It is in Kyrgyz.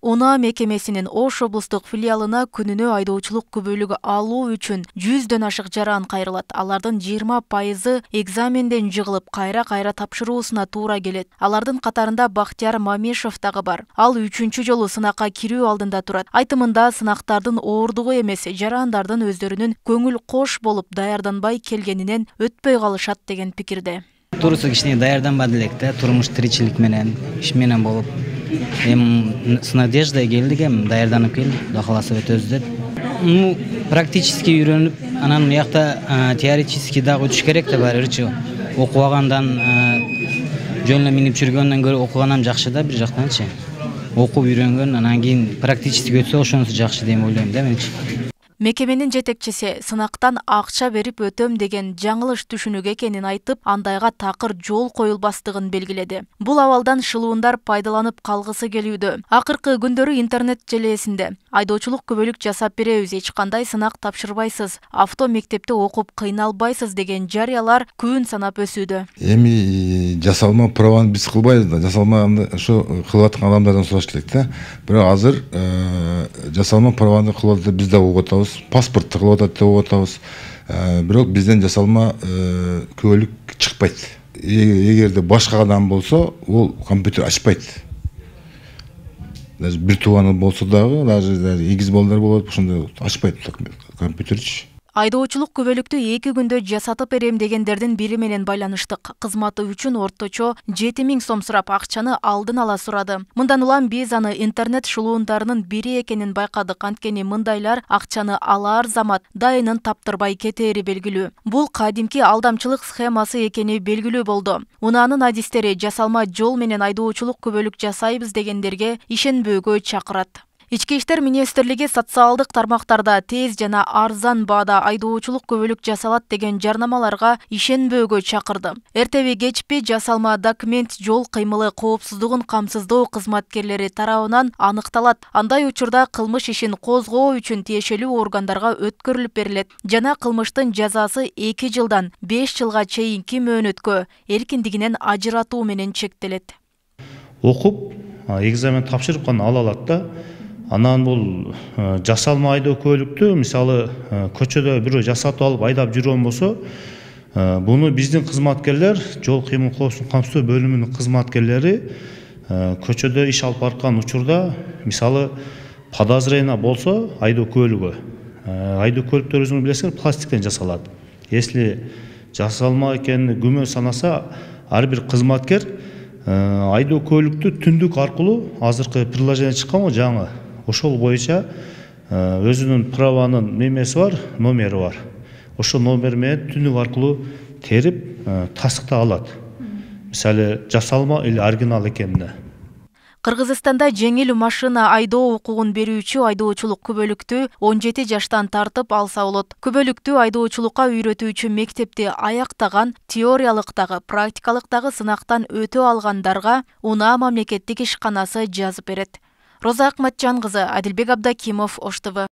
УНА мекемесинин Ош облустук филиалына күнүнө айдоочулук күбөлүгү алуу үчүн 100дөн ашык жаран кайрылат. Алардын 20% экзаменден жыгылып, кайра тапшыруусуна туура келет. Алардын катарында Бактияр Мамишев дагы бар. Ал 3-чү жолу сынакка кирүү алдында турат. Айтымында сынактардын оордугу эмес, жарандардын өздөрүнүн көңүл кош болуп даярданбай келгенинен өтпөй калышат деген пикирде. Туруусу кичине даярданбады элек да, турмуш тиричилик менен, иш менен болуп. С надеждой келдик, даярданып келдик, Кудай кааласа өтөбүз деп. Практически үйрөнүп, анан буякта теоретически дагы өтүш керек да баарыбирчи. Окубагандан, жөн эле минип жүргөндөн көрө окугандан жакшы да бир жактанчы. Окуп үйрөнгөн, анан кийин практически өтсө ошонусу жакшы деп ойлойм да менчи. Мекеменин жетекчиси сынактан акча берип өтөм деген жаңылыш түшүнүк экенин айтып, андайга такыр жол коюлбастыгын белгиледи. Бул абалдан шылуундар пайдаланып калгысы келүүдө. Акыркы күндөрү интернет желесинде айдоочулук күбөлүк жасап беребиз, эч кандай сынак тапшырбайсыз, авто мектепте окуп кыйналбайсыз деген жарыялар күн санап өсүүдө. Эми жасалма праваны биз кылбайбыз да, жасалмаганды ошо кылып аткан адамдардан сураш керек да. Бирок азыр жасалма праваны кылып атат, биз да угуп атабыз. Паспортты кылып атат деп угуп атабыз. Бирок бизден жасалма күбөлүк чыкпайт. Эгерде башка адам болсо, ол компьютер ачпайт. Даже бир тууганы болсо дагы, даже эгиз балдар болот, ошондой ачпайт компьютерчи. Айдоочулук күбөлүктү 2 күндө жасатып берем дегендердин бири менен байланыштык. Кызматы үчүн орточо 7000 сом сурап, акчаны алдын ала сурады. Мындан улам биз аны интернет шылуундарынын бири экенин байкадык. Анткени мындайлар акчаны алар замат дайынын таптырбай кетери белгилүү. Бул кадимки алдамчылык схемасы экени белгилүү болду. УНАнын адистери жасалма жол менен айдоочулук күбөлүк жасайбыз дегендерге ишенбөөгө чакырат. Ички иштер министрлиги социалдык тармактарда тез жана арзан баада айдоочулук күбөлүк жасалат деген жарнамаларга ишенбөөгө чакырды. Эртеби кечпи жасалма документ жол кыймылы коопсуздугун камсыздоо кызматкерлери тарабынан аныкталат. Андай учурда кылмыш ишин козгоо үчүн тиешелүү органдарга өткөрүлүп берилет жана кылмыштын жазасы 2 жылдан 5 жылга чейинки мөөнөткө эркиндигинен ажыратуу менен чектелет. Окуп, экзамен тапшырып гана ала алат да. Анан бул жасалма айдоо көлүктү, мисалы, көчөдө бирөө жасатып алып айдап жүргөн болсо, буну биздин кызматкерлер, жол кыймыл коопсуздугун камсыздоо бөлүмүнүн кызматкерлери көчөдө иш алып бараткан учурда, мисалы, подозрение болсо айдоо көлүгү. Айдоо көлүктөр өзүңүз билесиңер, пластиктен жасалат. Если жасалма экенин күмөн санаса, ар бир кызматкер айдоо көлүктү түндүк аркылуу, азыркы приложение чыккан го жаңы, ошол боюнча өзүнүн праванын немеси бар, номери бар. Ошол номер менен түндүк аркылуу терип тастыкта алат. Мисалы, жасалма или оригинал экенине. Кыргызстанда жеңил машина айдоо укугун берүүчү айдоочулук күбөлүктү 17 жаштан тартып алса болот. Күбөлүктү айдоочулукка үйрөтүүчү мектепти аяктаган, теориялык дагы, практикалык дагы сынактан өтө алгандарга УНА мамлекеттик ишканасы жазып берет. Роза Акматжан кызы, Адилбек Абдакимов, Ош ТВ.